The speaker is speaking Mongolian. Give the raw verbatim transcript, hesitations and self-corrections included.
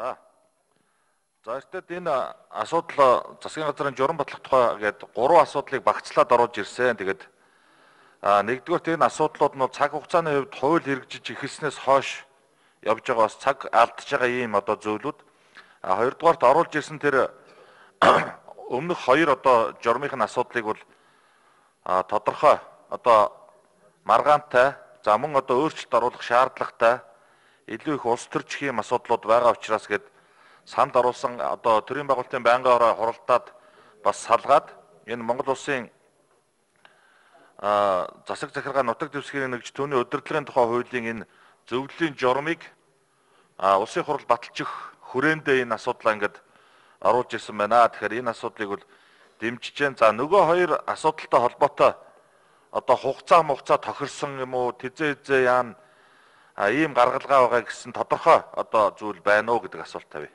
За. За эртээд энэ асуудал засгийн газрын журам батлах тухай гээд гурван асуудлыг багцлаад оруулж ирсэн. Тэгээд а нэгдүгээр энэ асуудлууд нь цаг хугацааны хувьд хууль хэрэгжиж эхэлснээс хойш явж байгаа бас цаг алдж байгаа ийм одоо зөвлүүд. А хоёрдугаарт оруулж ирсэн тэр өмнөх хоёр одоо журмынхын асуудлыг бол а тодорхой одоо маргаантай за мөн одоо өөрчлөлт оруулах шаардлагатай илүү их улс төрчих юм асуудлууд байгаа учраас гээд санд оруулсан одоо төрийн байгуулалтын байнгын ороо хуралдаад бас салгаад энэ Монгол улсын а засаг захиргаа нутаг дэвсгэрийн нэгж түүний удирдлагын тухай хуулийн энэ зөвлөлийн журмыг а улсын хурал баталчих хүрээндээ энэ асуудлаа ингээд оруулж ирсэн байна. Тэгэхээр энэ асуудлыг бол дэмжиж जैन. За нөгөө хоёр асуудалтай холбоотой одоо хугацаа мугацаа тохирсон юм уу тэзээ хизээ яан ийм гаргалгаа байгаа гэсэн тодорхой одоо зүйл байна уу гэдэг асуулт тавь.